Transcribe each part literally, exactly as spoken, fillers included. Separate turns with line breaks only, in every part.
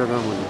Camuño.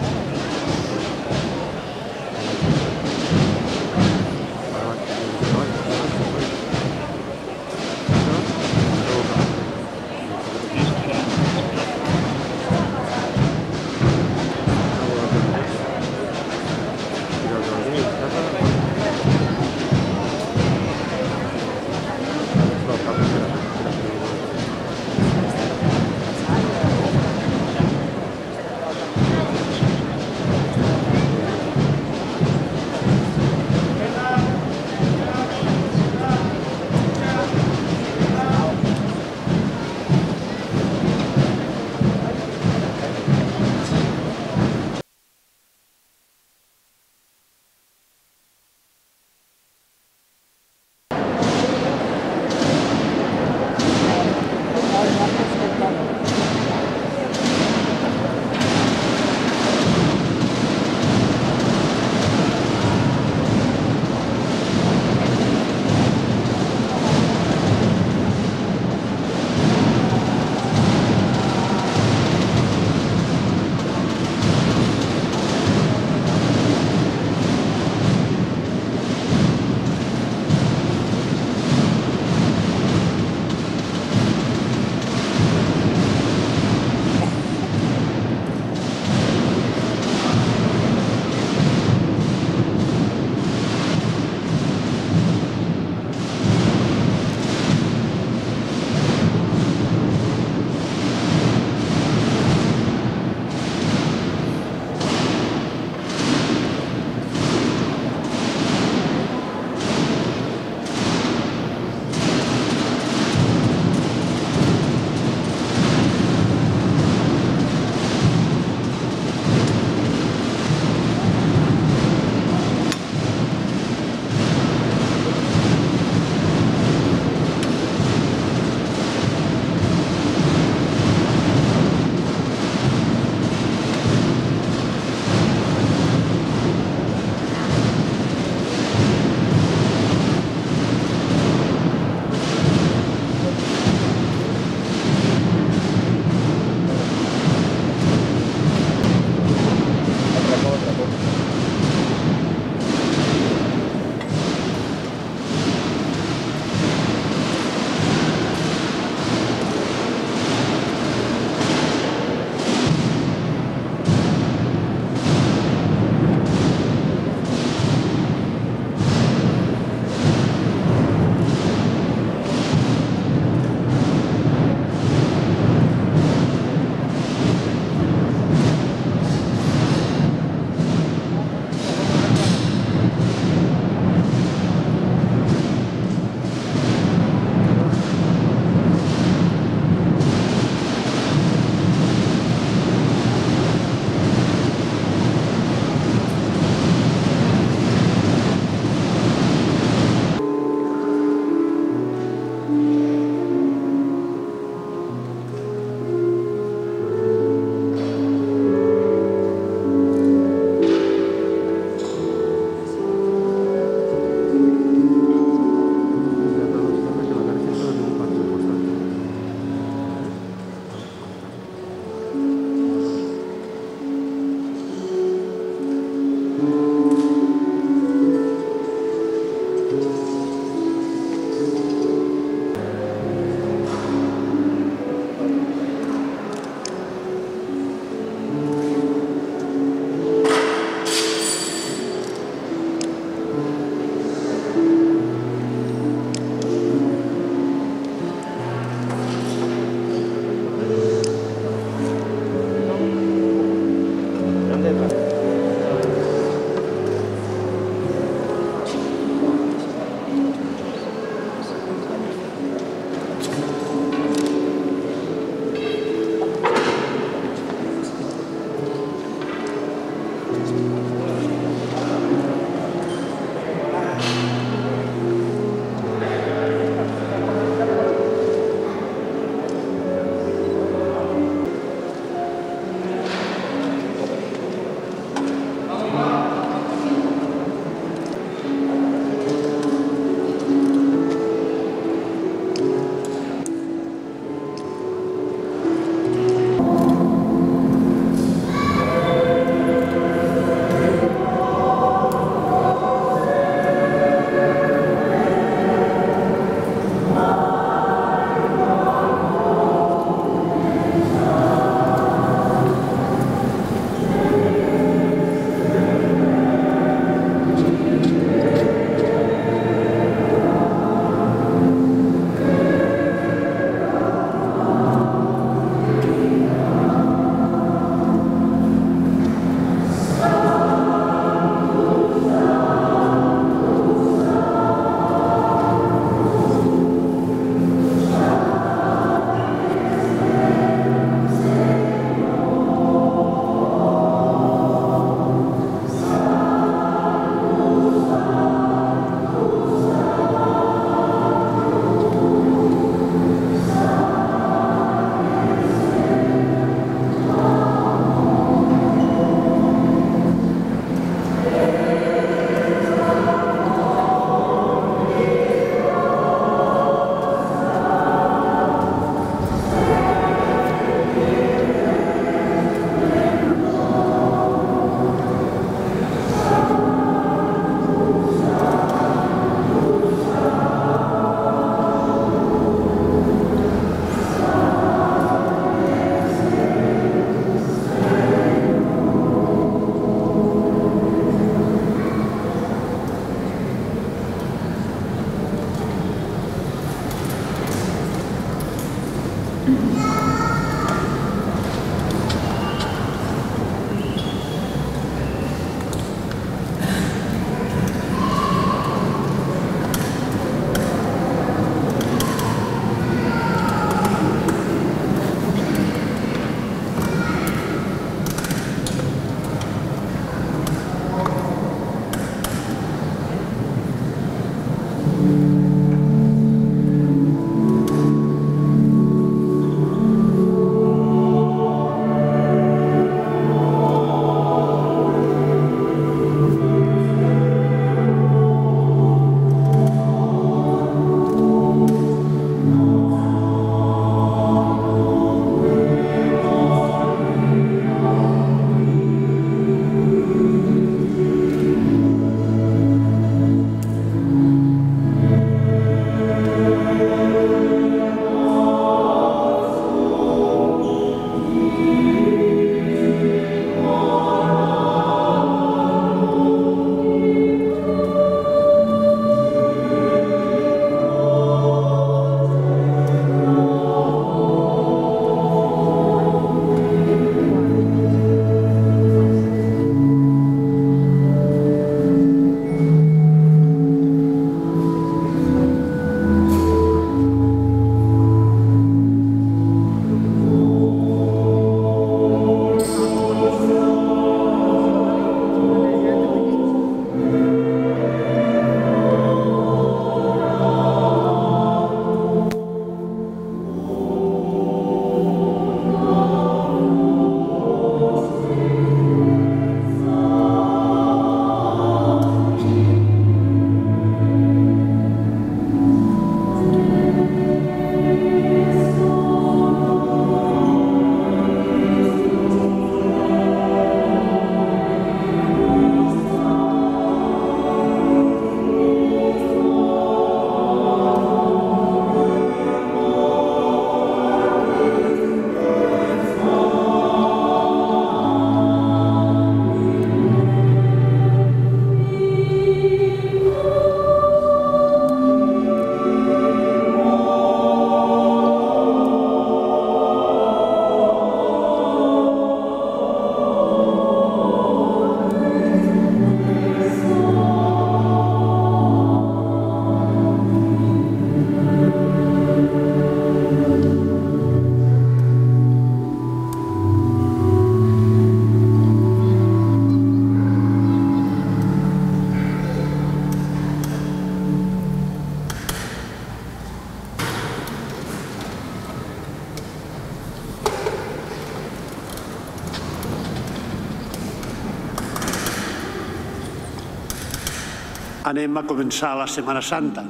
anem a començar la Setmana Santa.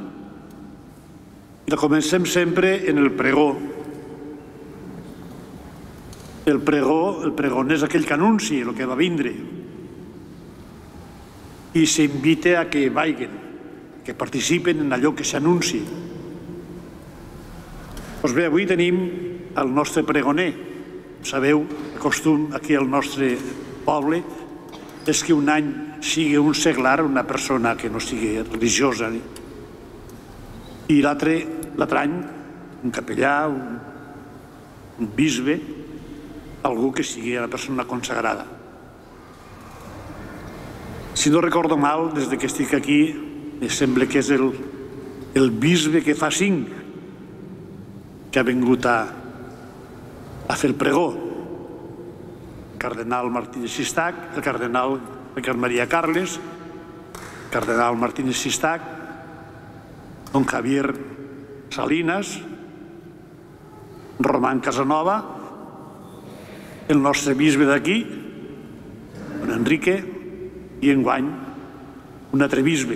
I la comencem sempre en el pregó. El pregó, el pregoner és aquell que anunci el que va vindre. I s'invita a que vagin, que participen en allò que s'anunci. Doncs bé, avui tenim el nostre pregoner. Sabeu, el costum aquí al nostre poble és que un any sigui un seglar, una persona que no sigui religiosa, i l'altre any un capellà, un bisbe, algú que sigui una persona consagrada. Si no recordo mal, des que estic aquí, em sembla que és el bisbe que fa cinc que ha vingut a fer el pregó. El cardenal Martínez Sistac, el cardenal Ricard Maria Carles, el cardenal Martínez Sistac, don Javier Salinas, Román Casanova, el nostre bisbe d'aquí, don Enrique, i enguany un altre bisbe.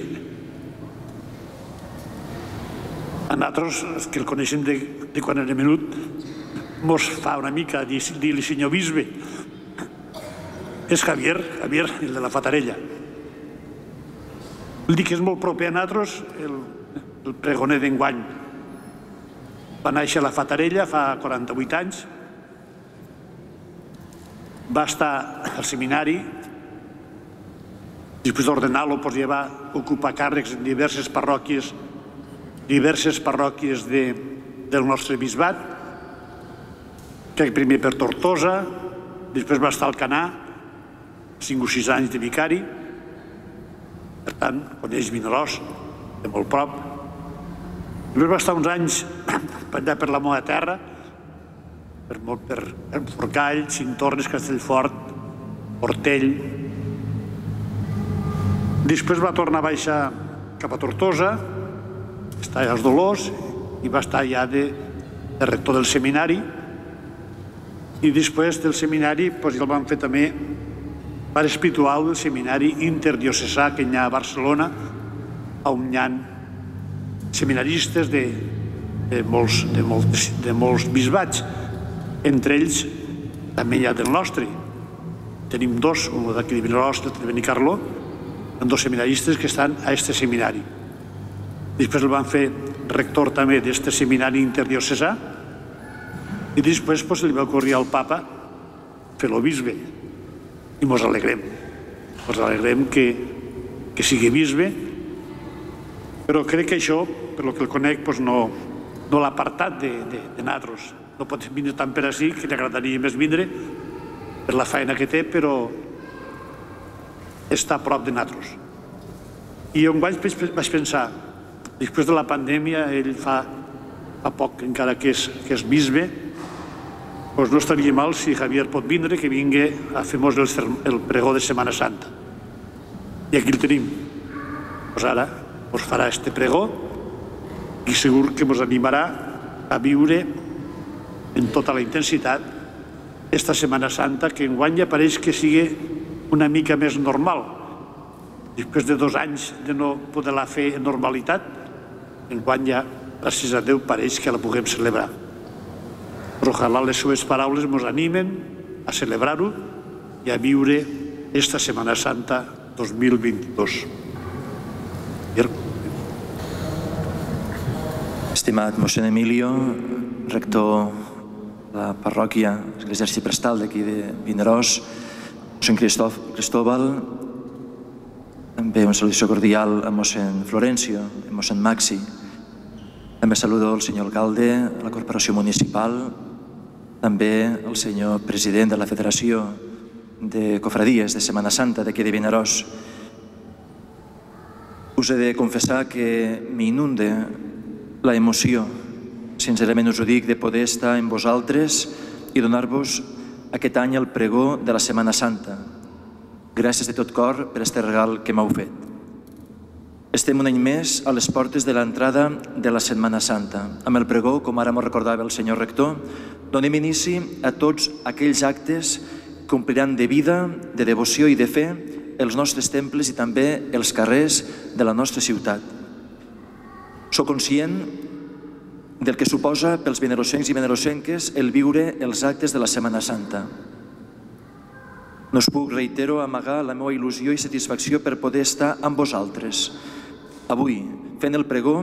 A nosaltres, que el coneixem de quan era menut, mos fa una mica dir-li senyor bisbe. És Javier, Javier, el de la Fatarella. Vull dir que és molt proper a nosaltres el pregoner d'enguany. Va néixer a la Fatarella fa quaranta-vuit anys, va estar al seminari, després d'ordenar-lo ja va ocupar càrrecs en diverses parròquies diverses parròquies del nostre bisbat, que primer per Tortosa, després va estar al Canà, cinc o sis anys de vicari, per tant, coneix Vinaròs de molt prop. Després va estar uns anys allà per la meva terra, per Forcall, Cintornes, Castellfort, Portell. Després va tornar a baixar cap a Tortosa, està als Dolors, i va estar ja de rector del seminari. I després del seminari el van fer també pare espiritual del seminari interdiocesà que hi ha a Barcelona, on hi ha seminaristes de molts bisbats. Entre ells també hi ha del nostre. Tenim dos, un d'aquí de Vinaròs, l'altre de Benicarló, dos seminaristes que estan a aquest seminari. Després el van fer rector també d'aquest seminari interdiocesà i després li va ocorrir al papa fer-lo bisbe. I mos alegrem. Mos alegrem que sigui bisbe, però crec que això, per lo que el conec, no l'ha apartat de nosaltres. No pot vindre tant per ací, que li agradaria més vindre per la feina que té, però està a prop de nosaltres. I on vaig pensar, després de la pandèmia, ell fa poc encara que és bisbe, no estaria mal si Javier pot vindre, que vingui a fer-nos el pregó de Setmana Santa. I aquí el tenim. Ara ens farà este pregó i segur que ens animarà a viure en tota la intensitat esta Setmana Santa, que enguany ja pareix que sigui una mica més normal. Després de dos anys de no poder-la fer en normalitat, enguany ja, gràcies a Déu, pareix que la puguem celebrar. Però ojalà les seves paraules ens animen a celebrar-ho i a viure esta Setmana Santa dos mil vint-i-dos.
Estimat mossèn Emilio, rector de la parròquia Església Arxiprestal d'aquí de Vinaròs, mossèn Cristóbal, també una salutació cordial a mossèn Florencio, a mossèn Maxi. També saludo el senyor alcalde, a la corporació municipal, també el senyor president de la Federació de Cofradies de Setmana Santa d'aquí de Vinaròs. Us he de confessar que m'inunde la emoció, sincerament us ho dic, de poder estar amb vosaltres i donar-vos aquest any el pregó de la Setmana Santa. Gràcies de tot cor per aquest regal que m'heu fet. Estem un any més a les portes de l'entrada de la Setmana Santa. Amb el pregó, com ara m'ho recordava el senyor rector, donem inici a tots aquells actes que ompliran de vida, de devoció i de fe els nostres temples i també els carrers de la nostra ciutat. Soc conscient del que suposa pels vinarossencs i vinarossenques el viure els actes de la Setmana Santa. No us puc, reitero, amagar la meva il·lusió i satisfacció per poder estar amb vosaltres avui, fent el pregó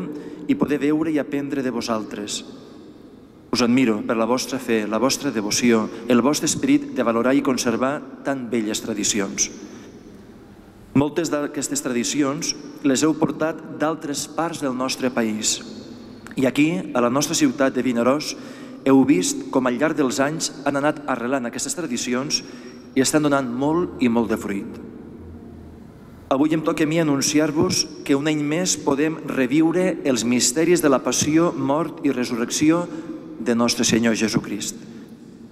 i poder veure i aprendre de vosaltres. Us admiro per la vostra fe, la vostra devoció, el vostre esperit de valorar i conservar tan belles tradicions. Moltes d'aquestes tradicions les heu portat d'altres parts del nostre país. I aquí, a la nostra ciutat de Vinaròs, heu vist com al llarg dels anys han anat arrelant aquestes tradicions i estan donant molt i molt de fruit. Avui em toca a mi anunciar-vos que un any més podem reviure els misteris de la passió, mort i resurrecció de nostre Senyor Jesucrist.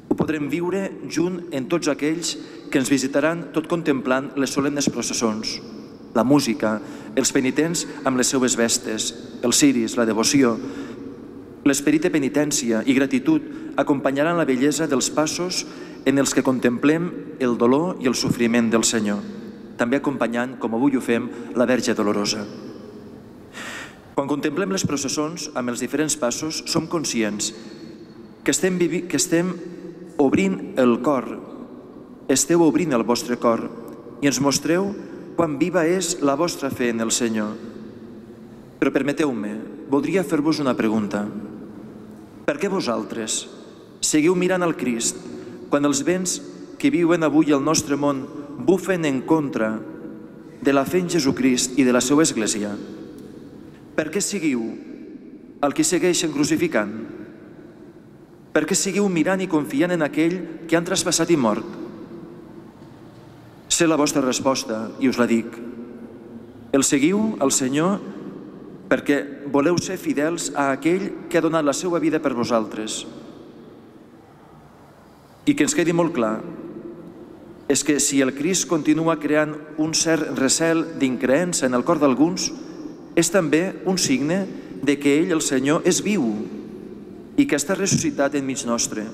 Ho podrem viure junt amb tots aquells que ens visitaran tot contemplant les solemnes processons, la música, els penitents amb les seues vestes, els ciris, la devoció. L'esperit de penitència i gratitud acompanyaran la bellesa dels passos en els que contemplem el dolor i el sofriment del Senyor, també acompanyant, com avui ho fem, la Verge Dolorosa. Quan contemplem les processons amb els diferents passos, som conscients que estem, que estem obrint el cor, esteu obrint el vostre cor i ens mostreu quan viva és la vostra fe en el Senyor. Però permeteu-me, voldria fer-vos una pregunta. Per què vosaltres seguiu mirant al Crist quan els vents que viuen avui al nostre món bufen en contra de la fe en Jesucrist i de la seva Església? Per què seguiu el que segueixen crucificant? Per què seguiu mirant i confiant en aquell que han traspassat i mort? Sé la vostra resposta i us la dic. El seguiu, al Senyor, perquè voleu ser fidels a aquell que ha donat la seva vida per vosaltres. I que ens quedi molt clar és que si el Crist continua creant un cert recel d'increença en el cor d'alguns, és també un signe de que ell, el Senyor, és viu i que està ressuscitat enmig nostre.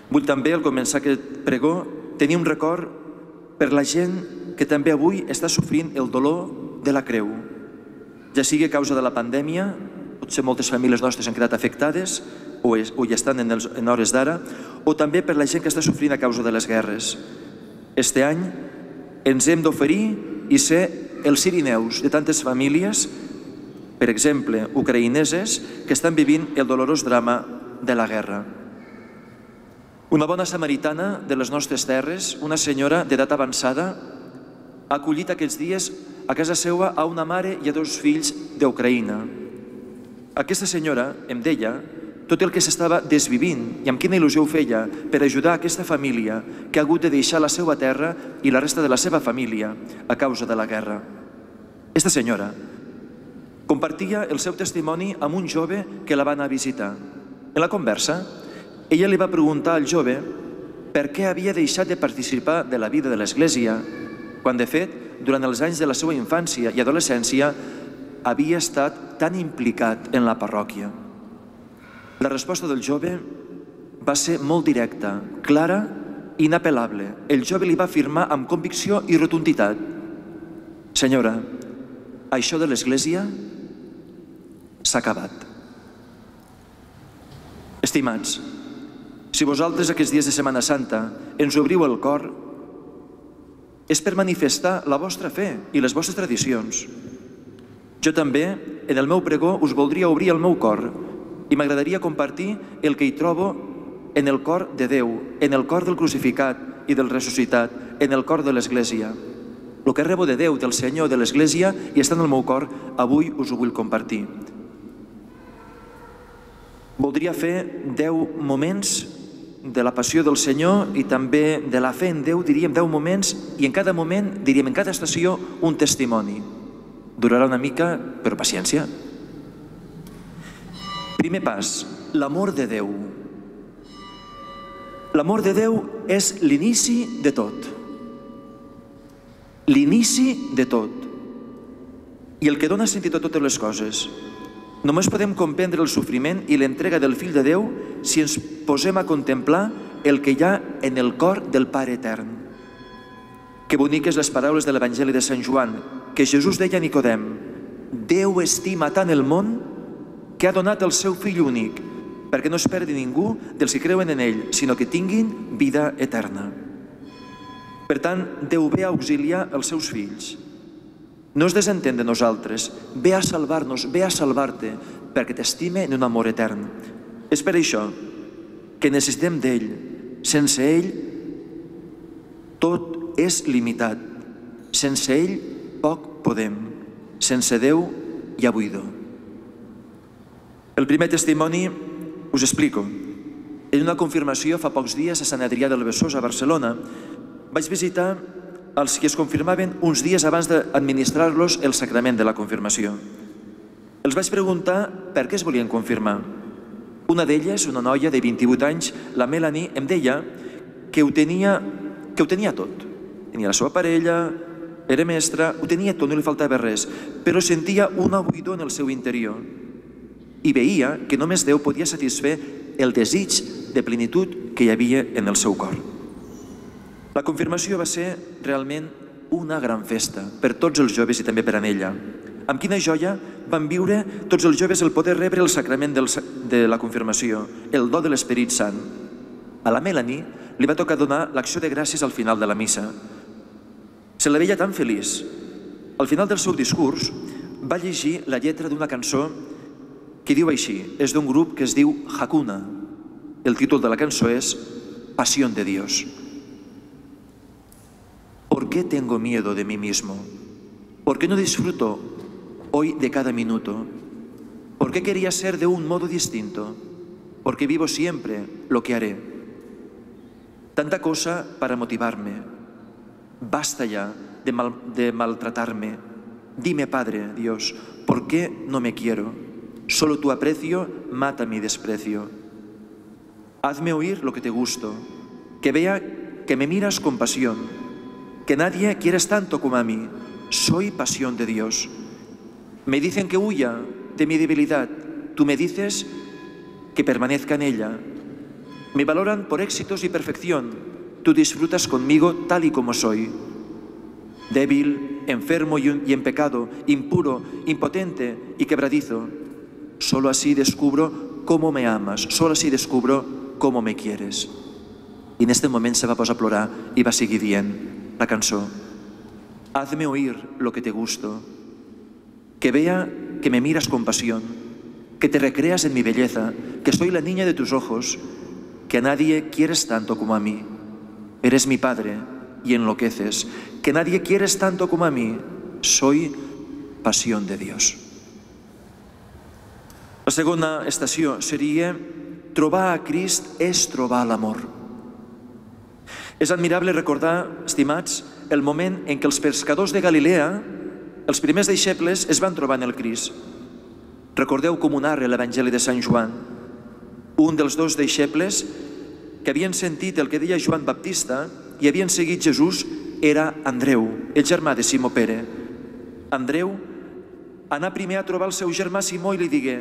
Vull també, al començar aquest pregó, tenir un record per la gent que també avui està sofrint el dolor de la creu, ja sigui a causa de la pandèmia, potser moltes famílies nostres han quedat afectades o hi estan en hores d'ara, o també per la gent que està sofrint a causa de les guerres. Este any ens hem d'oferir i ser els sirineus de tantes famílies, per exemple, ucraïneses, que estan vivint el dolorós drama de la guerra. Una bona samaritana de les nostres terres, una senyora d'edat avançada, ha acollit aquests dies a casa seva a una mare i a dos fills d'Ucraïna. Aquesta senyora em deia tot el que s'estava desvivint i amb quina il·lusió ho feia per ajudar aquesta família que ha hagut de deixar la seva terra i la resta de la seva família a causa de la guerra. Aquesta senyora compartia el seu testimoni amb un jove que la va anar a visitar. En la conversa, ella li va preguntar al jove per què havia deixat de participar de la vida de l'Església, quan de fet, durant els anys de la seva infància i adolescència, havia estat tan implicat en la parròquia. La resposta del jove va ser molt directa, clara i inapel·lable. El jove li va afirmar amb convicció i rotunditat: senyora, això de l'Església s'ha acabat. Estimats, si vosaltres aquests dies de Setmana Santa ens obriu el cor, és per manifestar la vostra fe i les vostres tradicions. Jo també, en el meu pregó, us voldria obrir el meu cor i m'agradaria compartir el que hi trobo en el cor de Déu, en el cor del crucificat i del ressuscitat, en el cor de l'Església. El que rebo de Déu, del Senyor, de l'Església, i està en el meu cor, avui us ho vull compartir. Voldria fer deu moments de la passió del Senyor i també de la fe en Déu, diríem deu moments, i en cada moment, diríem en cada estació, un testimoni. Durarà una mica, però paciència. Primer pas, l'amor de Déu. L'amor de Déu és l'inici de tot. L'inici de tot. I el que dona sentit a totes les coses. Només podem comprendre el sofriment i l'entrega del Fill de Déu si ens posem a contemplar el que hi ha en el cor del Pare Etern. Que boniques les paraules de l'Evangeli de Sant Joan, que Jesús deia a Nicodem: Déu estima tant el món que ha donat el seu Fill únic, perquè no es perdi ningú dels que creuen en ell, sinó que tinguin vida eterna. Per tant, Déu ve a auxiliar els seus fills. No es desentén de nosaltres, ve a salvar-nos, ve a salvar-te, perquè t'estime en un amor etern. És per això que necessitem d'ell. Sense ell, tot és limitat. Sense ell, poc podem. Sense Déu, hi ha buidor. El primer testimoni us explico. En una confirmació fa pocs dies a Sant Adrià del Besòs, a Barcelona, vaig visitar els que es confirmaven uns dies abans d'administrar-los el sacrament de la confirmació. Els vaig preguntar per què es volien confirmar. Una d'elles, una noia de vint-i-vuit anys, la Melanie, em deia que ho tenia, que ho tenia tot. Tenia la seva parella, era mestra, ho tenia tot, no li faltava res, però sentia una buidor en el seu interior i veia que només Déu podia satisfer el desig de plenitud que hi havia en el seu cor. La confirmació va ser realment una gran festa per tots els joves i també per a ella. Amb quina joia van viure tots els joves el poder rebre el sacrament de la confirmació, el do de l'Esperit Sant. A la Melanie li va tocar donar l'acció de gràcies al final de la missa. Se la veia tan feliç. Al final del seu discurs va llegir la lletra d'una cançó que diu així, és d'un grup que es diu Hakuna. El títol de la cançó és Pasión de Dios. ¿Por qué tengo miedo de mí mismo? ¿Por qué no disfruto hoy de cada minuto? ¿Por qué quería ser de un modo distinto? porque vivo siempre lo que haré. Tanta cosa para motivarme. Basta ya de, mal, de maltratarme. Dime, Padre, Dios, ¿por qué no me quiero? Solo tu aprecio mata mi desprecio. Hazme oír lo que te gusto, que vea que me miras con pasión, que nadie quieres tanto como a mí. Soy pasión de Dios. Me dicen que huya de mi debilidad. Tú me dices que permanezca en ella. Me valoran por éxitos y perfección. Tú disfrutas conmigo tal y como soy. Débil, enfermo y en pecado, impuro, impotente y quebradizo. Solo así descubro cómo me amas. Solo así descubro cómo me quieres. I en aquest moment se va posar a plorar i va seguir dient la cançó. Hazme oír lo que te gusto, que vea que me miras con pasión, que te recreas en mi belleza, que soy la niña de tus ojos, que a nadie quieres tanto como a mí. Eres mi Padre y enloqueces, que nadie quieres tanto como a mí. Soy pasión de Dios. La segona estació seria trobar a Crist és trobar l'amor. És admirable recordar, estimats, el moment en què els pescadors de Galilea, els primers deixebles, es van trobar en el Crist. Recordeu com ho narra l'Evangeli de Sant Joan. Un dels dos deixebles que havien sentit el que deia Joan Baptista i havien seguit Jesús era Andreu, el germà de Simó Pere. Andreu anà primer a trobar el seu germà Simó i li digué: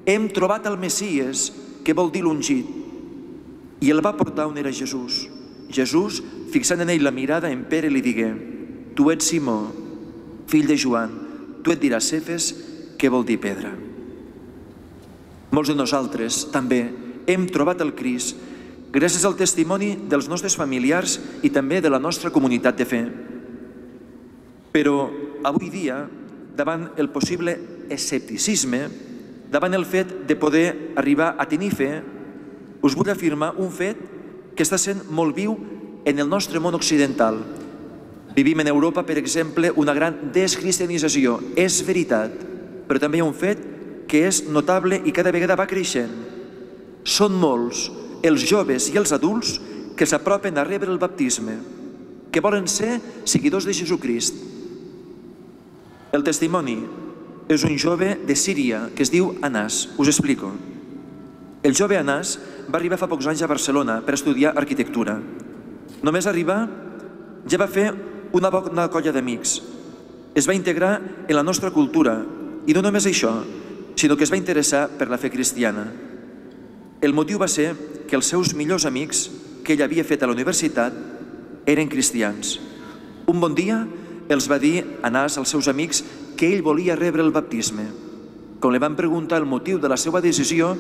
hem trobat el Messies, que vol dir l'ungit. I el va portar on era Jesús. Jesús, fixant en ell la mirada, en Pere li digué: tu ets Simó, fill de Joan, tu et diràs Cefes, que vol dir pedra. Molts de nosaltres també hem trobat el Crist gràcies al testimoni dels nostres familiars i també de la nostra comunitat de fe. Però avui dia, davant el possible escepticisme, davant el fet de poder arribar a tenir fe, us vull afirmar un fet que està sent molt viu en el nostre món occidental. Vivim en Europa, per exemple, una gran descristianització. És veritat, però també hi ha un fet que és notable i cada vegada va creixent. Són molts els joves i els adults que s'apropen a rebre el baptisme, que volen ser seguidors de Jesucrist. El testimoni és un jove de Síria que es diu Anàs. Us explico. El jove Anàs va arribar fa pocs anys a Barcelona per estudiar arquitectura. Només arribar ja va fer una bona colla d'amics. Es va integrar en la nostra cultura i no només això, sinó que es va interessar per la fe cristiana. El motiu va ser que els seus millors amics que ell havia fet a la universitat eren cristians. Un bon dia els va dir Anàs als seus amics que ell volia rebre el baptisme. Quan li van preguntar el motiu de la seva decisió,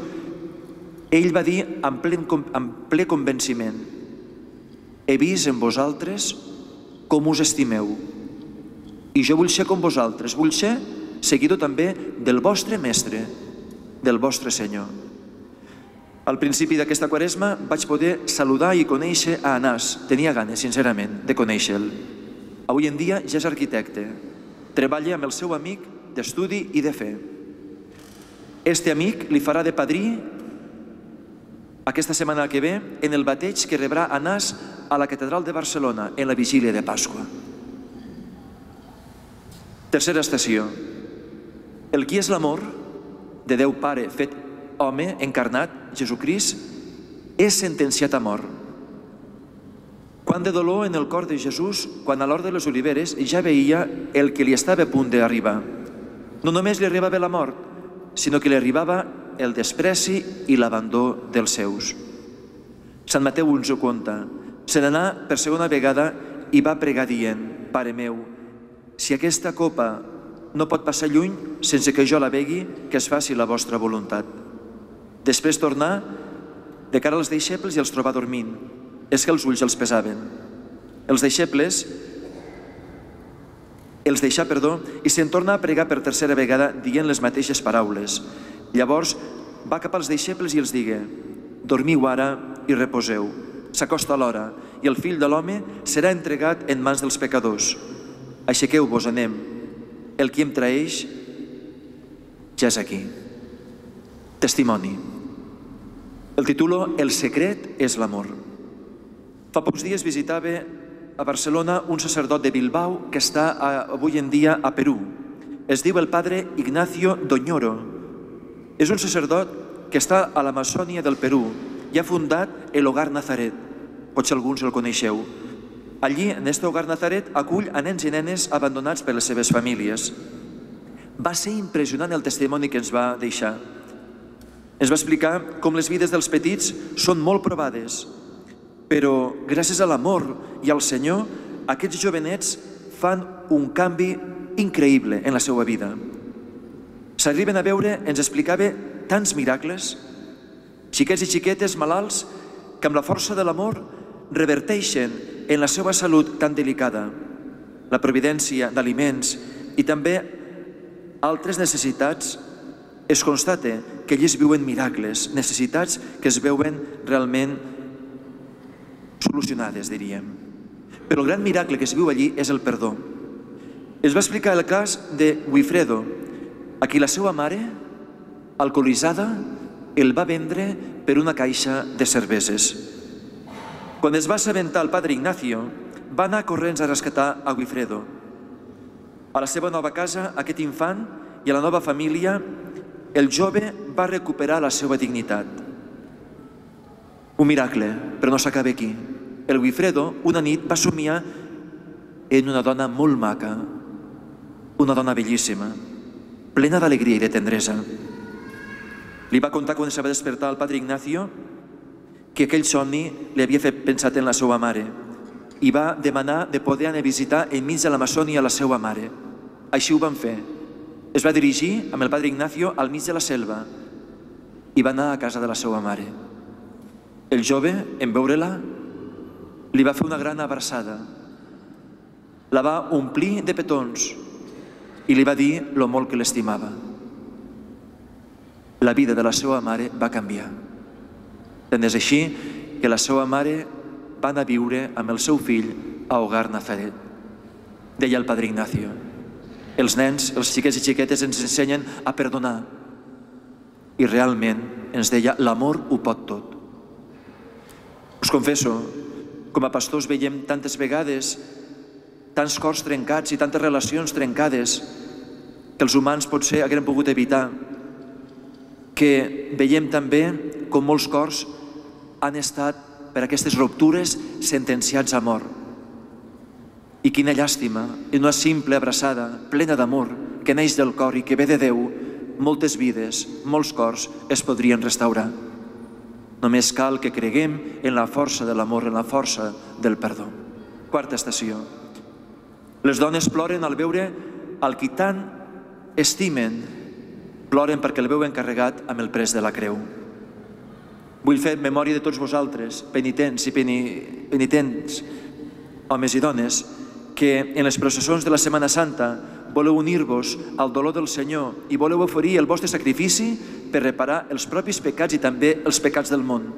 ell va dir amb ple, amb ple convenciment: he vist en vosaltres com us estimeu i jo vull ser com vosaltres, vull ser seguidor també del vostre mestre, del vostre Senyor. Al principi d'aquesta quaresma vaig poder saludar i conèixer a Anàs. Tenia ganes, sincerament, de conèixer-lo. Avui en dia ja és arquitecte. Treballa amb el seu amic d'estudi i de fe. Este amic li farà de padrí aquesta setmana que ve en el bateig que rebrà Anàs a la Catedral de Barcelona en la vigília de Pasqua. Tercera estació. El qui és l'amor de Déu Pare fet home encarnat, Jesucrist, és sentenciat a mort. Quant de dolor en el cor de Jesús quan a l'hora de les oliveres ja veia el que li estava a punt d'arribar. No només li arribava la mort, sinó que li arribava el despreci i l'abandó dels seus. Sant Mateu ens ho conta. Se n'anà per segona vegada i va pregar dient: Pare meu, si aquesta copa no pot passar lluny sense que jo la begui, que es faci la vostra voluntat. Després tornà de cara als deixebles i els trobà dormint. És que els ulls els pesaven. Els deixebles els deixà, perdó, i se'n torna a pregar per tercera vegada dient les mateixes paraules. Llavors va cap als deixebles i els digué: dormiu ara i reposeu. S'acosta l'hora i el fill de l'home serà entregat en mans dels pecadors. Aixequeu-vos, anem. El qui em traeix ja és aquí. Testimoni. El titulo El secret és l'amor. Fa pocs dies visitava a Barcelona un sacerdot de Bilbao que està avui en dia a Perú. Es diu el padre Ignacio Doñoro. És un sacerdot que està a l'Amazònia del Perú i ha fundat el Hogar Nazaret. Potser alguns el coneixeu. Allí, en aquest Hogar Nazaret, acull a nens i nenes abandonats per les seves famílies. Va ser impressionant el testimoni que ens va deixar. Ens va explicar com les vides dels petits són molt provades, però gràcies a l'amor i al Senyor, aquests jovenets fan un canvi increïble en la seva vida. S'arriben a veure, ens explicava, tants miracles, xiquets i xiquetes malalts que amb la força de l'amor reverteixen en la seva salut tan delicada, la providència d'aliments i també altres necessitats. Es constata que ells viuen miracles, necessitats que es veuen realment solucionades, diríem. Però el gran miracle que es viu allí és el perdó. Es va explicar el cas de Wilfredo, a qui la seva mare, alcoholitzada, el va vendre per una caixa de cerveses. Quan es va assabentar el padre Ignacio, va anar corrents a rescatar a Wilfredo. A la seva nova casa, aquest infant i a la nova família, el jove va recuperar la seva dignitat. Un miracle, però no s'acaba aquí. El Wilfredo, una nit, va somiar en una dona molt maca, una dona bellíssima, plena d'alegria i de tendresa. Li va contar quan se va despertar el padre Ignacio que aquell somni li havia fet pensar en la seva mare i va demanar de poder anar a visitar enmig de l'Amazònia la seva mare. Així ho van fer. Es va dirigir amb el padre Ignacio al mig de la selva i va anar a casa de la seva mare. El jove, en veure-la, li va fer una gran abraçada. La va omplir de petons i li va dir lo molt que l'estimava. La vida de la seva mare va canviar. Tant és així que la seva mare va anar a viure amb el seu fill a Hogar Nazaret. Deia el padre Ignacio: els nens, els xiquets i xiquetes ens ensenyen a perdonar. I realment, ens deia, l'amor ho pot tot. Us confesso, com a pastors veiem tantes vegades tants cors trencats i tantes relacions trencades que els humans potser hagueren pogut evitar, que veiem també com molts cors han estat per aquestes ruptures sentenciats a mort. I quina llàstima, en una simple abraçada plena d'amor que neix del cor i que ve de Déu, moltes vides, molts cors es podrien restaurar. Només cal que creguem en la força de l'amor, en la força del perdó. Quarta estació. Les dones ploren al veure el qui tant estimen, ploren perquè el veuen carregat amb el pres de la creu. Vull fer memòria de tots vosaltres, penitents i penitents, homes i dones, que en les processons de la Setmana Santa voleu unir-vos al dolor del Senyor i voleu oferir el vostre sacrifici per reparar els propis pecats i també els pecats del món.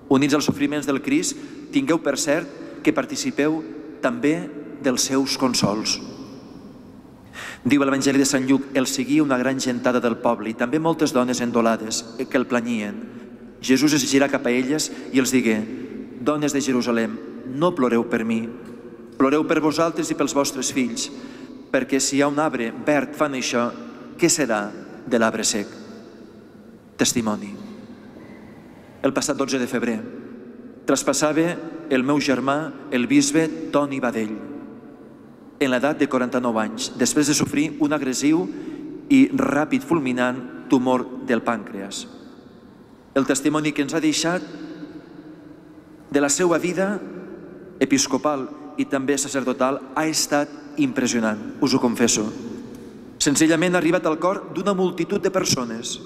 Units als sofriments del Crist, tingueu per cert que participeu també dels seus consols. Diu l'Evangeli de Sant Lluc: el seguia una gran gentada del poble i també moltes dones endolades que el planyien. Jesús es girà cap a elles i els digué: dones de Jerusalem, no ploreu per mi, ploreu per vosaltres i pels vostres fills, perquè si hi ha un arbre verd fan això, què serà de l'arbre sec? Testimoni. El passat dotze de febrer traspassava el meu germà, el bisbe Toni Badell, en l'edat de quaranta-nou anys, després de sofrir un agressiu i ràpid fulminant tumor del pàncreas. El testimoni que ens ha deixat de la seva vida episcopal i també sacerdotal ha estat impressionant, us ho confesso. Senzillament ha arribat al cor d'una multitud de persones.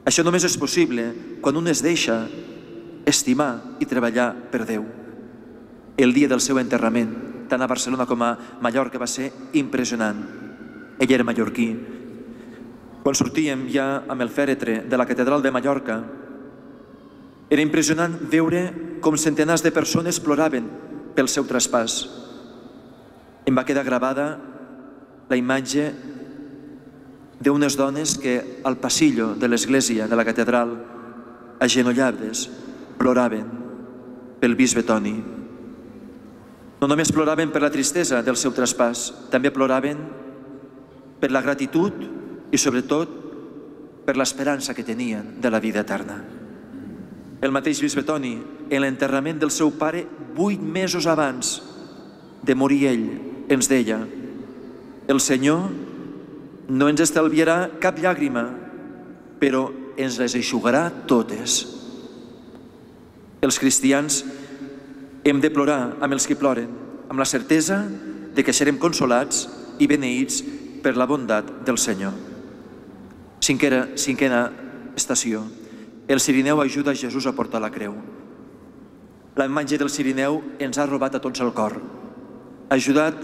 Això només és possible quan un es deixa estimar i treballar per Déu. El dia del seu enterrament, tant a Barcelona com a Mallorca, va ser impressionant. Ell era mallorquí. Quan sortíem ja amb el fèretre de la catedral de Mallorca, era impressionant veure com centenars de persones ploraven pel seu traspàs. Em va quedar gravada la imatge d'unes dones que al passillo de l'església de la catedral agenollades, ploraven pel bisbe Toni. No només ploraven per la tristesa del seu traspàs, també ploraven per la gratitud i, sobretot, per l'esperança que tenien de la vida eterna. El mateix bisbe Toni, en l'enterrament del seu pare, vuit mesos abans de morir ell, ens deia: el Senyor no ens estalviarà cap llàgrima, però ens les eixugarà totes. Els cristians hem de plorar amb els que ploren, amb la certesa de que serem consolats i beneïts per la bondat del Senyor. Cinquena, cinquena estació. El Cirineu ajuda Jesús a portar la creu. La imatge del Cirineu ens ha robat a tots el cor. Ha ajudat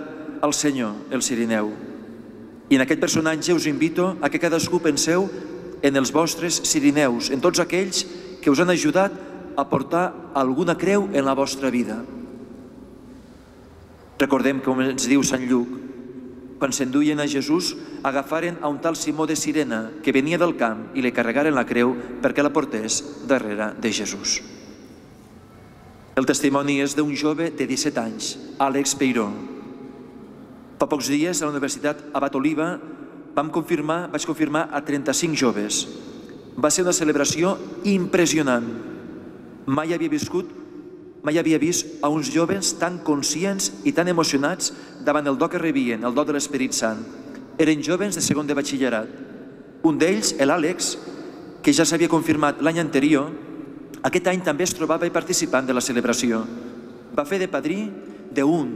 al Senyor, el Cirineu. I en aquest personatge us invito a que cadascú penseu en els vostres Cirineus, en tots aquells que us han ajudat a portar alguna creu en la vostra vida. Recordem, com ens diu Sant Lluc, quan s'enduien a Jesús, agafaren a un tal Simó de Cirene, que venia del camp, i li carregaren la creu perquè la portés darrere de Jesús. El testimoni és d'un jove de disset anys, Àlex Peiró. Fa pocs dies, a la Universitat Abat Oliba, vam confirmar, vaig confirmar a trenta-cinc joves. Va ser una celebració impressionant. Mai havia viscut, mai havia vist a uns joves tan conscients i tan emocionats davant el do que rebien, el do de l'Esperit Sant. Eren joves de segon de batxillerat. Un d'ells, l'Àlex, que ja s'havia confirmat l'any anterior, aquest any també es trobava participant de la celebració. Va fer de padrí d'un,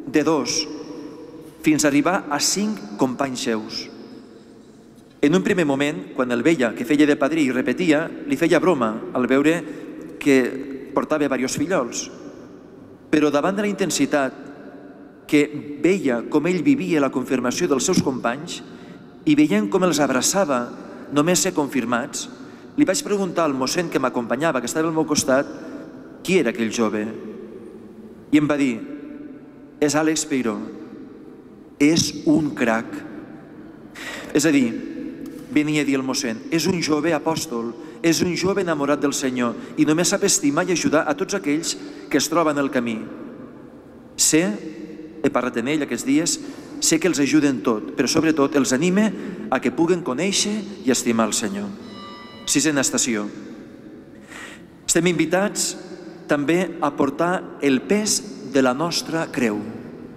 de dos, fins a arribar a cinc companys seus. En un primer moment, quan el veia que feia de padrí i repetia, li feia broma al veure que portava diversos fillols. Però davant de la intensitat que veia com ell vivia la confirmació dels seus companys i veient com els abraçava només ser confirmats, li vaig preguntar al mossèn que m'acompanyava, que estava al meu costat, qui era aquell jove. I em va dir: és Àlex Peiró, és un crac. És a dir, venia a dir el mossèn, és un jove apòstol, és un jove enamorat del Senyor i només sap estimar i ajudar a tots aquells que es troben al camí. Sé, he parlat amb ell aquests dies, sé que els ajuda en tot, però sobretot els anima a que puguen conèixer i estimar el Senyor. Sisena estació. Estem invitats també a portar el pes de la nostra creu.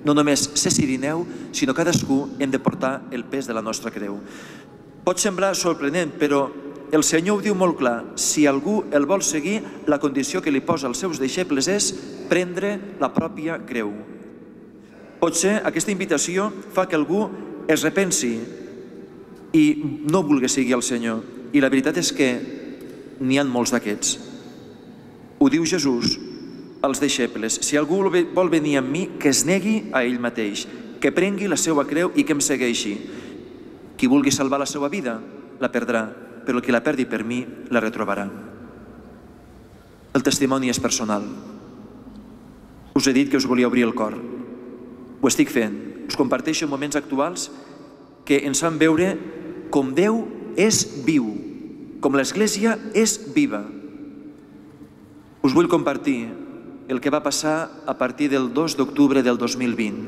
No només ser cirineu, sinó cadascú hem de portar el pes de la nostra creu. Pot semblar sorprenent, però el Senyor ho diu molt clar. Si algú el vol seguir, la condició que li posa als seus deixebles és prendre la pròpia creu. Potser aquesta invitació fa que algú es repensi i no vulgui seguir el Senyor. I la veritat és que n'hi ha molts d'aquests. Ho diu Jesús als deixebles: si algú vol venir amb mi, que es negui a ell mateix, que prengui la seva creu i que em segueixi. Qui vulgui salvar la seva vida, la perdrà, però el que la perdi per mi, la retrobarà. El testimoni és personal. Us he dit que us volia obrir el cor. Ho estic fent. Us comparteixo moments actuals que ens fan veure com Déu és viu, com l'Església és viva. Us vull compartir el que va passar a partir del dos d'octubre del dos mil vint.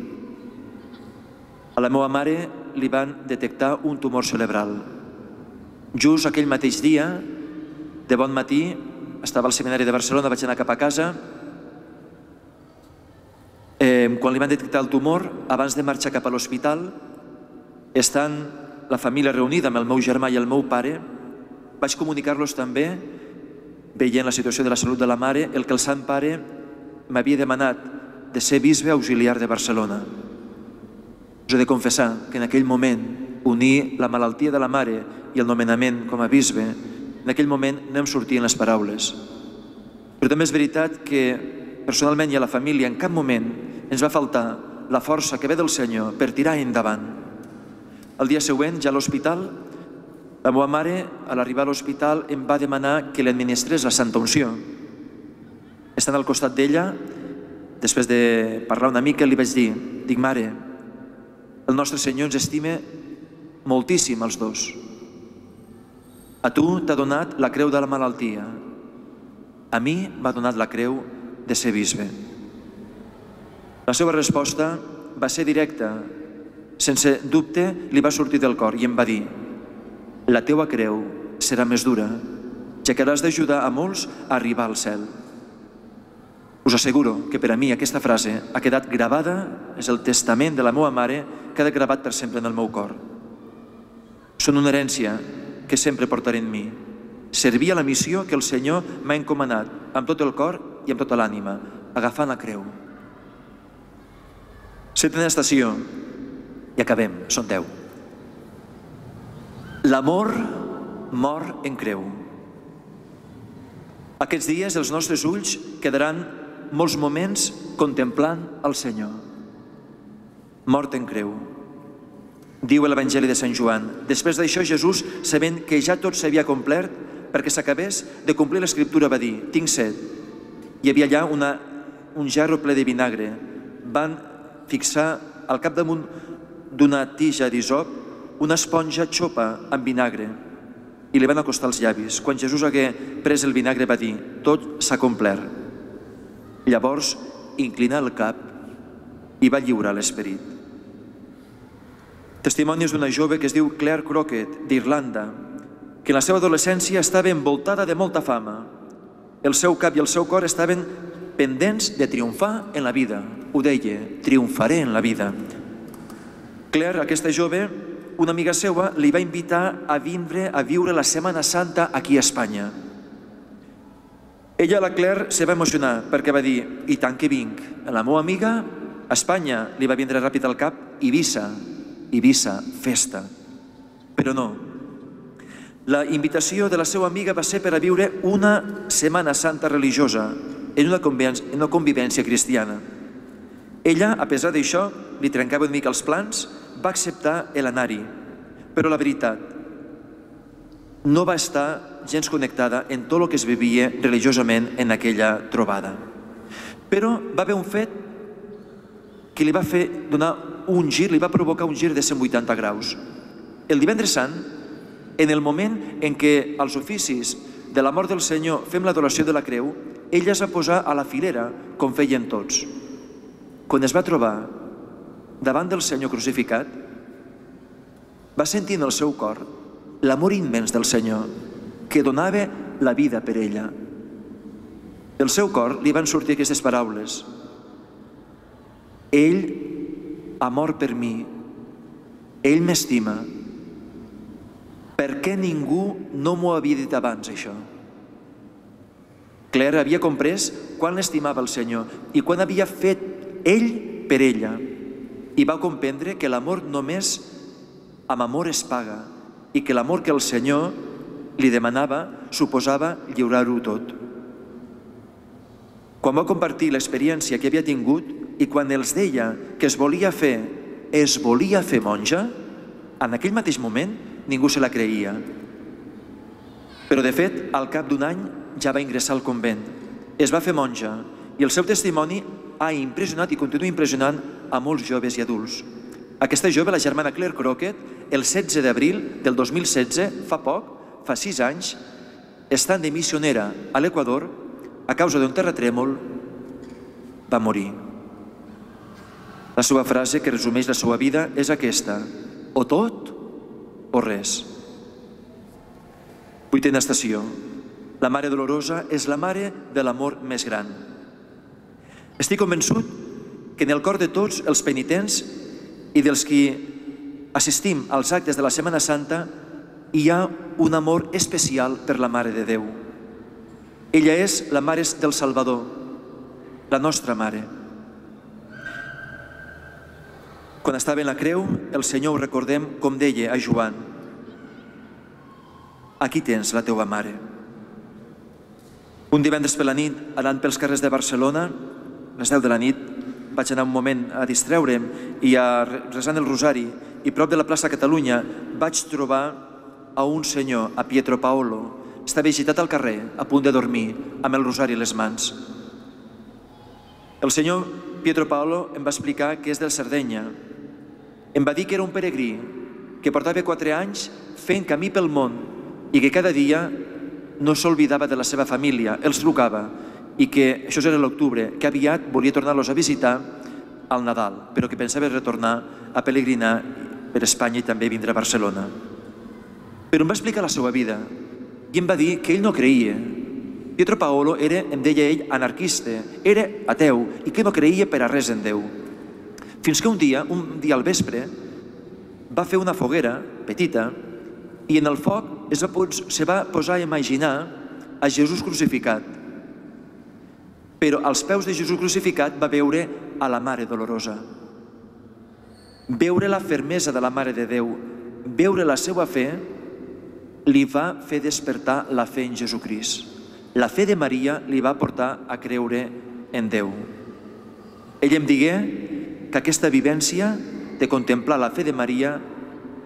A la meva mare li van detectar un tumor cerebral. Just aquell mateix dia, de bon matí, estava al seminari de Barcelona, vaig anar cap a casa. Quan li van detectar el tumor, abans de marxar cap a l'hospital, estant la família reunida amb el meu germà i el meu pare, vaig comunicar-los també, veient la situació de la salut de la mare, el que el Sant Pare m'havia demanat de ser bisbe auxiliar de Barcelona. Us he de confessar que en aquell moment, unir la malaltia de la mare i el nomenament com a bisbe, en aquell moment no em sortien les paraules. Però també és veritat que personalment i a la família en cap moment ens va faltar la força que ve del Senyor per tirar endavant. El dia següent, ja a l'hospital, la meva mare, a l'arribar a l'hospital, em va demanar que li administrés la Santa Unció. Estant al costat d'ella, després de parlar una mica, li vaig dir, dic, mare, el nostre Senyor ens estima moltíssim els dos. A tu t'ha donat la creu de la malaltia a mi m'ha donat la creu de ser bisbe. La seva resposta va ser directa. Sense dubte li va sortir del cor i em va dir: la teua creu serà més dura, ja que hauràs d'ajudar a molts a arribar al cel. Us asseguro que per a mi aquesta frase ha quedat gravada, és el testament de la meva mare, que ha gravat per sempre en el meu cor. Són una herència que sempre portaré en mi. Servir a la missió que el Senyor m'ha encomanat amb tot el cor i amb tota l'ànima, agafant la creu. Setena estació, i acabem, són deu. L'amor mor en creu. Aquests dies els nostres ulls quedaran molts moments contemplant el Senyor. Mort en creu. Diu l'Evangeli de Sant Joan: després d'això Jesús, sabent que ja tot s'havia complert, perquè s'acabés de complir l'Escriptura, va dir: tinc set. Hi havia allà una, un gerro ple de vinagre. Van fixar al capdamunt d'una tija d'hisop una esponja xopa amb vinagre i li van acostar els llavis. Quan Jesús hagué pres el vinagre va dir: tot s'ha complert. Llavors inclinà el cap i va lliurar l'esperit. Testimonis d'una jove que es diu Claire Crockett, d'Irlanda, que en la seva adolescència estava envoltada de molta fama. El seu cap i el seu cor estaven pendents de triomfar en la vida. Ho deia: triomfaré en la vida. Claire, aquesta jove, una amiga seva li va invitar a vindre a viure la Setmana Santa aquí a Espanya. Ella, la Claire, se va emocionar perquè va dir: i tant que vinc. La meva amiga, a Espanya, li va vindre ràpid al cap Eivissa, Eivissa, festa. Però no. La invitació de la seva amiga va ser per a viure una Setmana Santa religiosa en una convivència, en una convivència cristiana. Ella, a pesar d'això, li trencava una mica els plans, va acceptar l'anar-hi. Però la veritat, no va estar gens connectada en tot el que es vivia religiosament en aquella trobada. Però va haver un fet que li va fer donar un gir, li va provocar un gir de cent vuitanta graus. El divendres sant, en el moment en què als oficis de la mort del Senyor fem l'adoració de la creu, ella es va posar a la filera, com feien tots. Quan es va trobar davant del Senyor crucificat, va sentir en el seu cor l'amor immens del Senyor, que donava la vida per ella. Del seu cor li van sortir aquestes paraules: ell ha mort per mi, ell m'estima. Per què ningú no m'ho havia dit abans, això? Claire havia comprès quan l'estimava el Senyor i quan havia fet ell per ella, i va comprendre que l'amor només amb amor es paga i que l'amor que el Senyor li demanava suposava lliurar-ho tot. Quan va compartir l'experiència que havia tingut i quan els deia que es volia fer, es volia fer monja, en aquell mateix moment ningú se la creia. Però de fet, al cap d'un any ja va ingressar al convent. Es va fer monja i el seu testimoni ha impressionat i continua impressionant a molts joves i adults. Aquesta jove, la germana Claire Crockett, el setze d'abril del dos mil setze, fa poc, fa sis anys, estant de missionera a l'Equador, a causa d'un terratrèmol, va morir. La seva frase, que resumeix la seva vida, és aquesta: o tot o res. Vuitena estació. La Mare Dolorosa és la mare de l'amor més gran. Estic convençut que en el cor de tots els penitents i dels qui assistim als actes de la Setmana Santa hi ha un amor especial per la Mare de Déu. Ella és la Mare del Salvador, la nostra Mare. Quan estava en la creu, el Senyor ho recordem com deia a Joan: aquí tens la teua mare. Un divendres per la nit, anant pels carrers de Barcelona, a les deu de la nit, vaig anar un moment a distreure'm i a resant el rosari, i prop de la plaça Catalunya vaig trobar a un senyor, a Pietro Paolo. Estava agitat al carrer, a punt de dormir, amb el rosari a les mans. El senyor Pietro Paolo em va explicar que és del Sardenya. Em va dir que era un peregrí, que portava quatre anys fent camí pel món i que cada dia no s'oblidava de la seva família, els trucava, i que, això era l'octubre, que aviat volia tornar-los a visitar al Nadal, però que pensava retornar a peregrinar per Espanya i també vindre a Barcelona. Però em va explicar la seva vida i em va dir que ell no creia. Pietro Paolo era, em deia ell, anarquista, era ateu i que no creia per a res en Déu. Fins que un dia, un dia al vespre, va fer una foguera petita i en el foc es va, se va posar a imaginar a Jesús crucificat. Però als peus de Jesús crucificat va veure a la Mare Dolorosa. Veure la fermesa de la Mare de Déu, veure la seva fe, li va fer despertar la fe en Jesucrist. La fe de Maria li va portar a creure en Déu. Ell em digué que aquesta vivència de contemplar la fe de Maria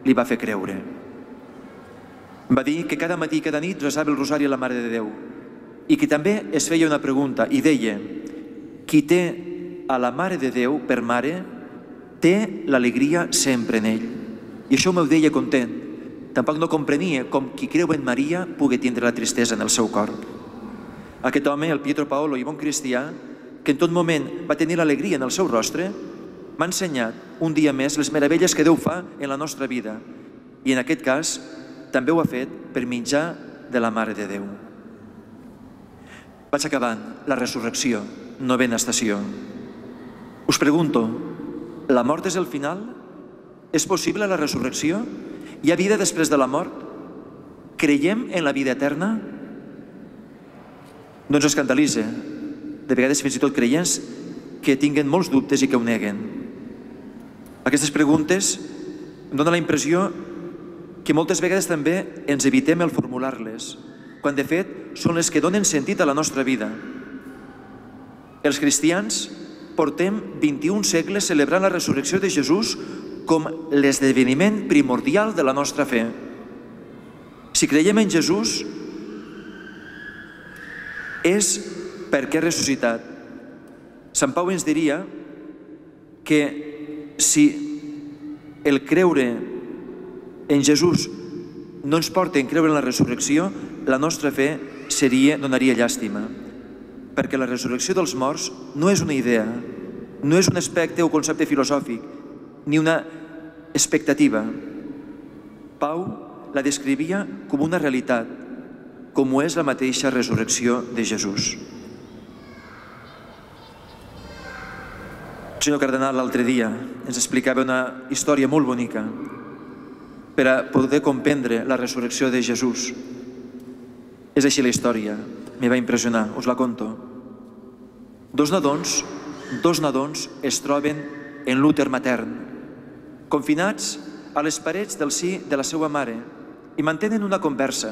li va fer creure. Va dir que cada matí i cada nit resava el rosari a la Mare de Déu i que també es feia una pregunta i deia: qui té a la Mare de Déu per mare té l'alegria sempre en ell. I això m'ho deia content. Tampoc no comprenia com qui creu en Maria pugui tindre la tristesa en el seu cor. Aquest home, el Pietro Paolo, i bon cristià, que en tot moment va tenir l'alegria en el seu rostre, m'ha ensenyat un dia més les meravelles que Déu fa en la nostra vida. I en aquest cas també ho ha fet per mitjà de la Mare de Déu. Vaig acabant. La resurrecció, novena estació. Us pregunto, la mort és el final? És possible la resurrecció? Hi ha vida després de la mort? Creiem en la vida eterna? No ens escandalitza. De vegades fins i tot creients que tinguen molts dubtes i que ho neguen. Aquestes preguntes em donen la impressió que moltes vegades també ens evitem el formular-les, quan de fet són les que donen sentit a la nostra vida. Els cristians portem vint-i-un segles celebrant la resurrecció de Jesús com l'esdeveniment primordial de la nostra fe. Si creiem en Jesús és perquè ha ressuscitat. Sant Pau ens diria que si el creure en Jesús no ens porta en creure en la resurrecció, la nostra fe seria, donaria llàstima. Perquè la resurrecció dels morts no és una idea, no és un aspecte o concepte filosòfic, ni una expectativa. Pau la descrivia com una realitat, com ho és la mateixa resurrecció de Jesús. El senyor cardenal l'altre dia ens explicava una història molt bonica per a poder comprendre la resurrecció de Jesús. És així la història, me va impressionar, us la conto. Dos nadons, dos nadons es troben en l'úter matern, confinats a les parets del si de la seva mare i mantenen una conversa.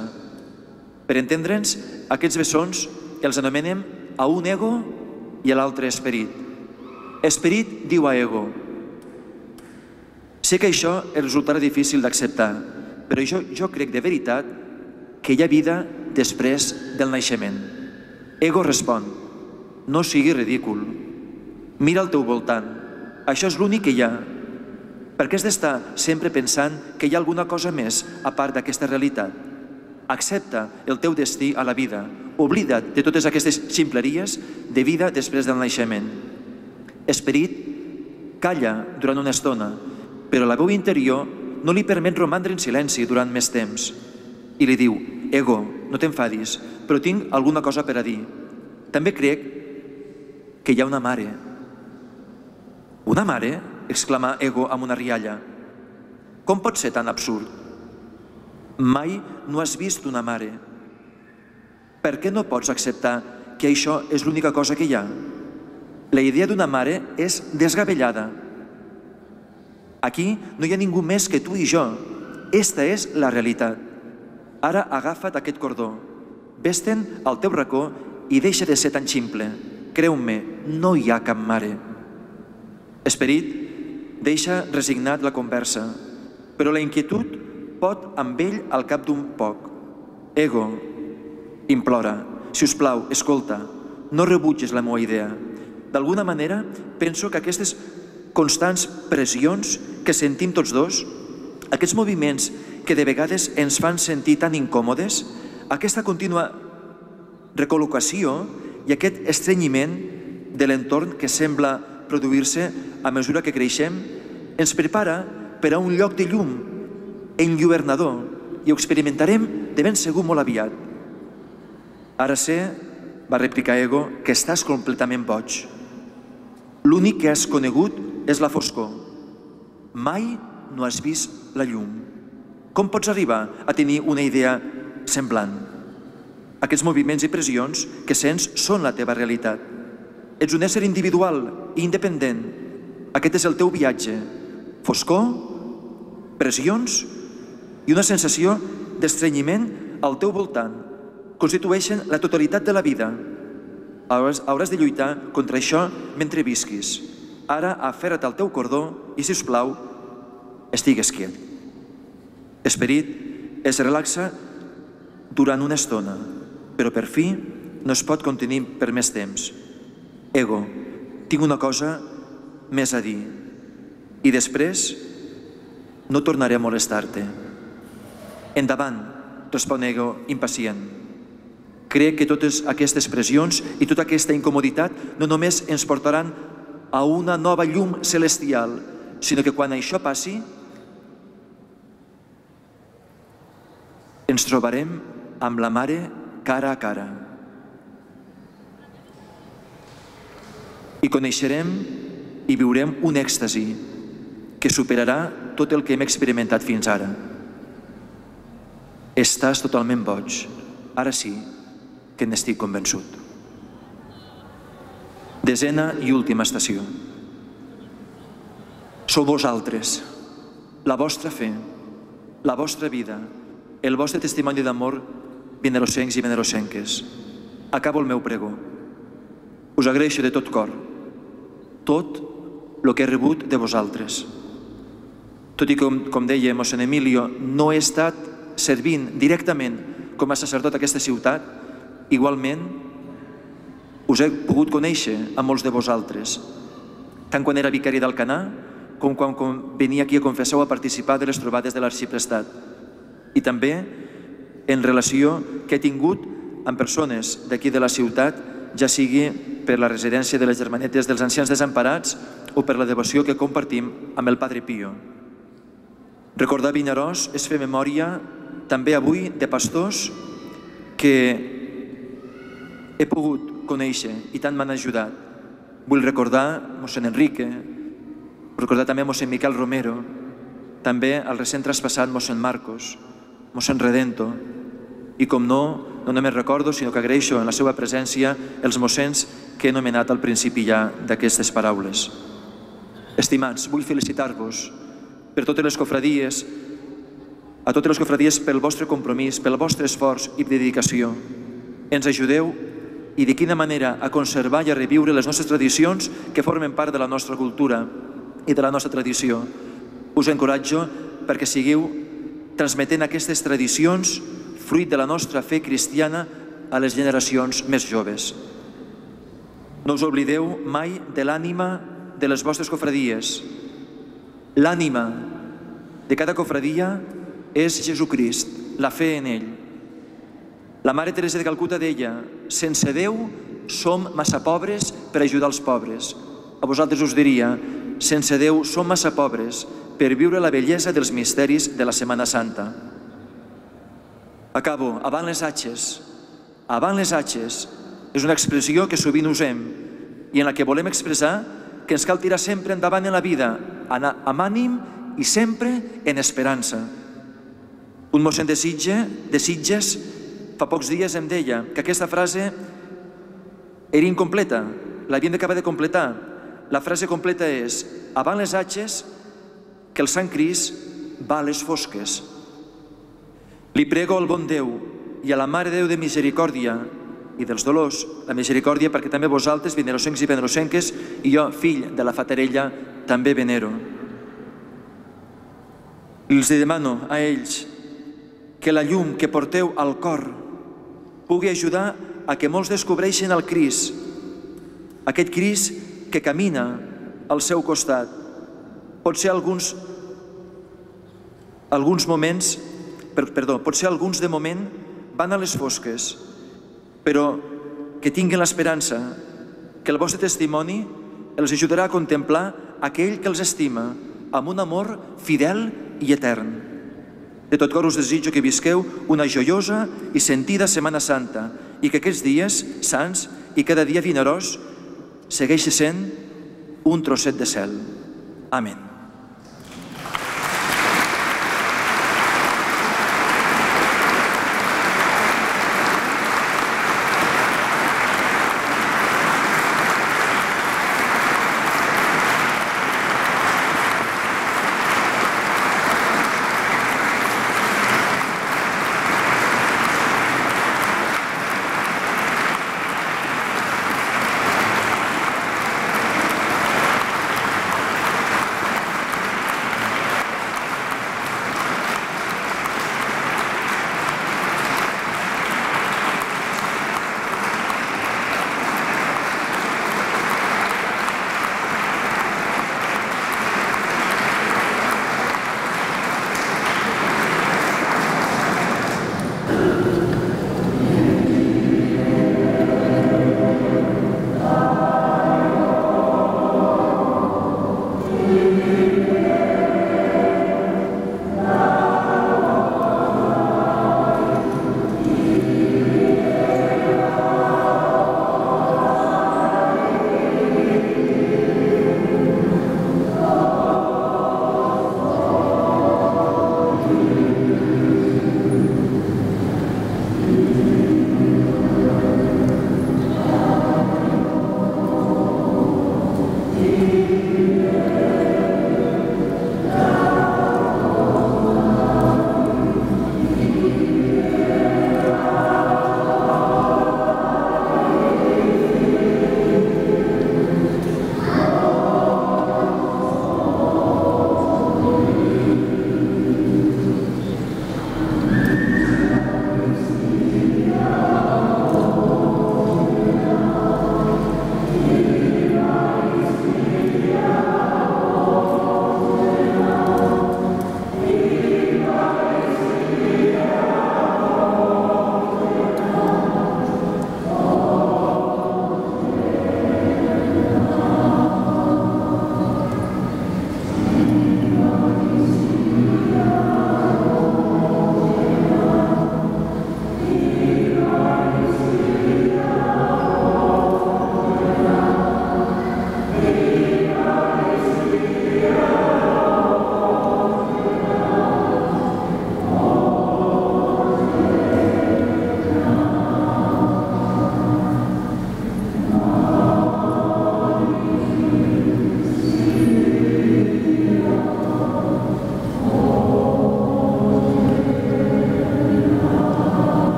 Per entendre'ns, aquests bessons els anomenem a un ego i a l'altre esperit. Esperit diu a ego: sé que això els resultarà difícil d'acceptar, però jo, jo crec de veritat que hi ha vida després del naixement. Ego respon: no siguis ridícul, mira al teu voltant, això és l'únic que hi ha. Per què has d'estar sempre pensant que hi ha alguna cosa més a part d'aquesta realitat? Accepta el teu destí a la vida, oblida't de totes aquestes ximpleries de vida després del naixement. Esperit calla durant una estona, però la veu interior no li permet romandre en silenci durant més temps. I li diu: ego, no t'enfadis, però tinc alguna cosa per a dir. També crec que hi ha una mare. Una mare? Exclama ego amb una rialla. Com pot ser tan absurd? Mai no has vist una mare. Per què no pots acceptar que això és l'única cosa que hi ha? La idea d'una mare és desgavellada. Aquí no hi ha ningú més que tu i jo. Esta és la realitat. Ara agafa't aquest cordó, ves-te'n al teu racó i deixa de ser tan ximple. Creu-me, no hi ha cap mare. Esperit deixa resignat la conversa, però la inquietud pot amb ell al cap d'un poc. Ego implora: si us plau, escolta, no rebutges la meva idea. D'alguna manera, penso que aquestes constants pressions que sentim tots dos, aquests moviments que de vegades ens fan sentir tan incòmodes, aquesta contínua recol·locació i aquest estrenyiment de l'entorn que sembla produir-se a mesura que creixem ens prepara per a un lloc de llum enlluernador i ho experimentarem de ben segur molt aviat. Ara sé, va replicar Ego, que estàs completament boig. L'únic que has conegut és la foscor. Mai no has vist la llum. Com pots arribar a tenir una idea semblant? Aquests moviments i pressions que sents són la teva realitat. Ets un ésser individual i independent. Aquest és el teu viatge. Foscor, pressions i una sensació d'estrenyiment al teu voltant constitueixen la totalitat de la vida. Hauràs, hauràs de lluitar contra això mentre visquis. Ara aferra't al teu cordó i, si us plau, estigues quiet. Esperit es relaxa durant una estona, però per fi no es pot contenir per més temps. Ego, tinc una cosa més a dir i després no tornaré a molestar-te. Endavant, respon Ego, impacient. Crec que totes aquestes pressions i tota aquesta incomoditat no només ens portaran a una nova llum celestial, sinó que quan això passi, ens trobarem amb la Mare cara a cara. I coneixerem i viurem un èxtasi que superarà tot el que hem experimentat fins ara. Estàs totalment boig. Ara sí que n'estic convençut. Desena i última estació. Sou vosaltres, la vostra fe, la vostra vida, el vostre testimoni d'amor, venerosencs i venerosenques. Acabo el meu pregó. Us agraeixo de tot cor tot el que he rebut de vosaltres. Tot i que, com deia mossèn Emilio, no he estat servint directament com a sacerdot a aquesta ciutat, igualment us he pogut conèixer a molts de vosaltres, tant quan era vicari d'Alcanar com quan venia aquí a confessar o a participar de les trobades de l'arxiprestat, i també en relació que he tingut amb persones d'aquí de la ciutat, ja sigui per la residència de les Germanetes dels Ancians Desemparats o per la devoció que compartim amb el Padre Pío. Recordar Vinaròs és fer memòria també avui de pastors que he pogut conèixer i tant m'han ajudat. Vull recordar mossèn Enrique, recordar també mossèn Miquel Romero, també el recent traspassat mossèn Marcos, mossèn Redento, i com no, no només recordo, sinó que agraeixo en la seva presència els mossens que he anomenat al principi ja d'aquestes paraules. Estimats, vull felicitar-vos per totes les cofradies, a totes les cofradies pel vostre compromís, pel vostre esforç i dedicació. Ens ajudeu i de quina manera a conservar i a reviure les nostres tradicions que formen part de la nostra cultura i de la nostra tradició. Us encoratjo perquè seguiu transmetent aquestes tradicions fruit de la nostra fe cristiana a les generacions més joves. No us oblideu mai de l'ànima de les vostres cofradies. L'ànima de cada cofradia és Jesucrist, la fe en ell. La Mare Teresa de Calcuta deia: sense Déu som massa pobres per ajudar els pobres. A vosaltres us diria: sense Déu som massa pobres per viure la bellesa dels misteris de la Setmana Santa. Acabo, avant les atxes. Avant les atxes és una expressió que sovint usem i en la que volem expressar que ens cal tirar sempre endavant en la vida, amb ànim i sempre en esperança. Un mossèn de Sitges fa pocs dies em deia que aquesta frase era incompleta, l'havíem d'acabar de completar. La frase completa és: avant les atxes, que el Sant Crist va a les fosques. Li prego al bon Déu i a la Mare Déu de Misericòrdia i dels Dolors, la misericòrdia perquè també vosaltres, venerosencs i venerosenques, i jo, fill de la Fatarella, també venero. Els demano a ells que la llum que porteu al cor pugui ajudar a que molts descobreixin el Crist, aquest Crist que camina al seu costat. Pot ser alguns, alguns moments, perdó, pot ser alguns de moment van a les fosques, però que tinguin l'esperança que el vostre testimoni els ajudarà a contemplar aquell que els estima amb un amor fidel i etern. De tot cor us desitjo que visqueu una joiosa i sentida Setmana Santa i que aquests dies sants i cada dia vinaròs segueixi sent un trosset de cel. Amén.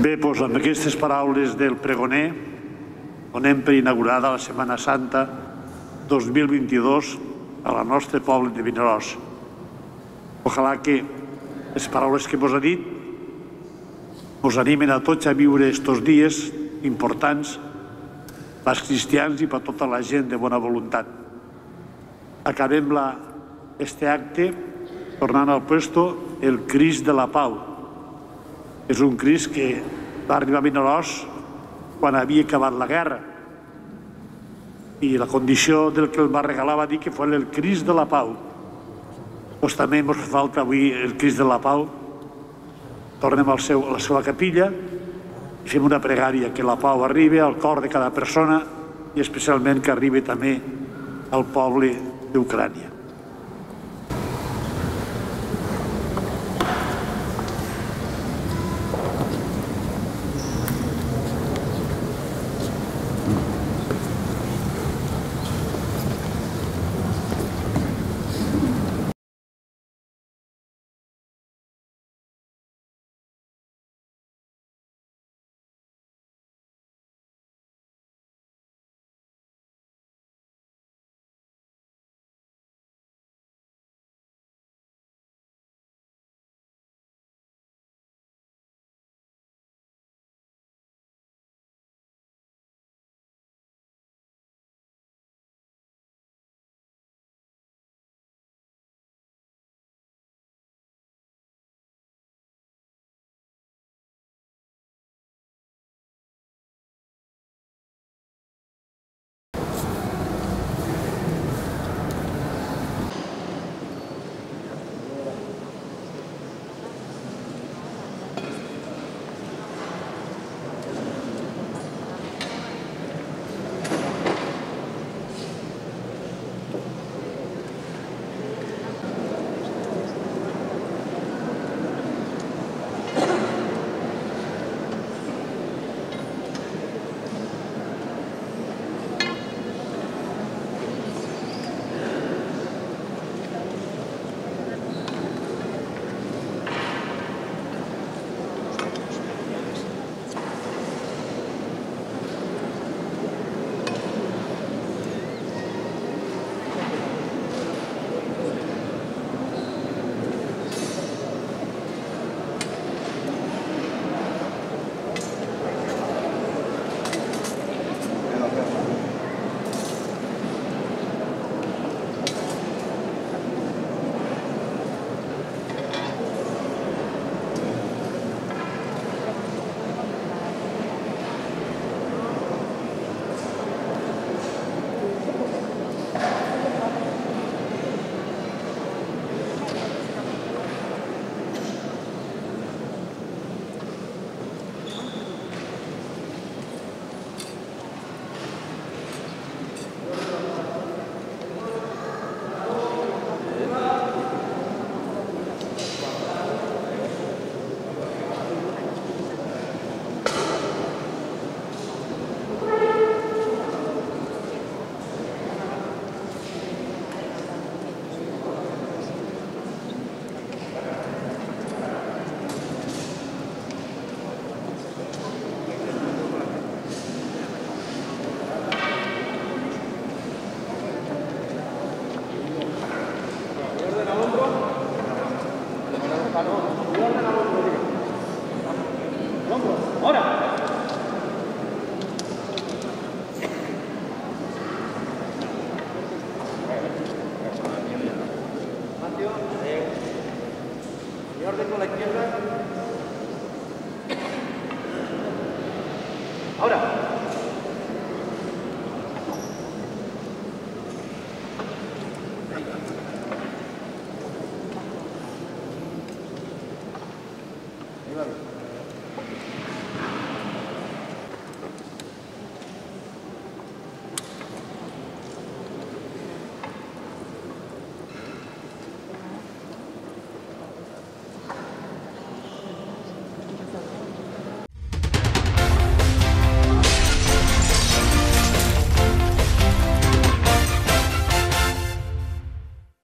Bé, doncs amb aquestes paraules del pregoner donem per inaugurada la Setmana Santa dos mil vint-i-dos a la nostre poble de Vinaròs. Ojalà que les paraules que mos ha dit mos animen a tots a viure estos dies importants pels cristians i per tota la gent de bona voluntat. Acabem este acte tornant al puesto el Crist de la Pau. És un Crist que va arribar a Vinaròs quan havia acabat la guerra i la condició del que el va regalar va dir que fos el Crist de la Pau. Doncs també ens fa falta avui el Crist de la Pau. Tornem a la seva capilla i fem una pregària que la pau arribi al cor de cada persona i especialment que arribi també al poble d'Ucrània.
Ahora.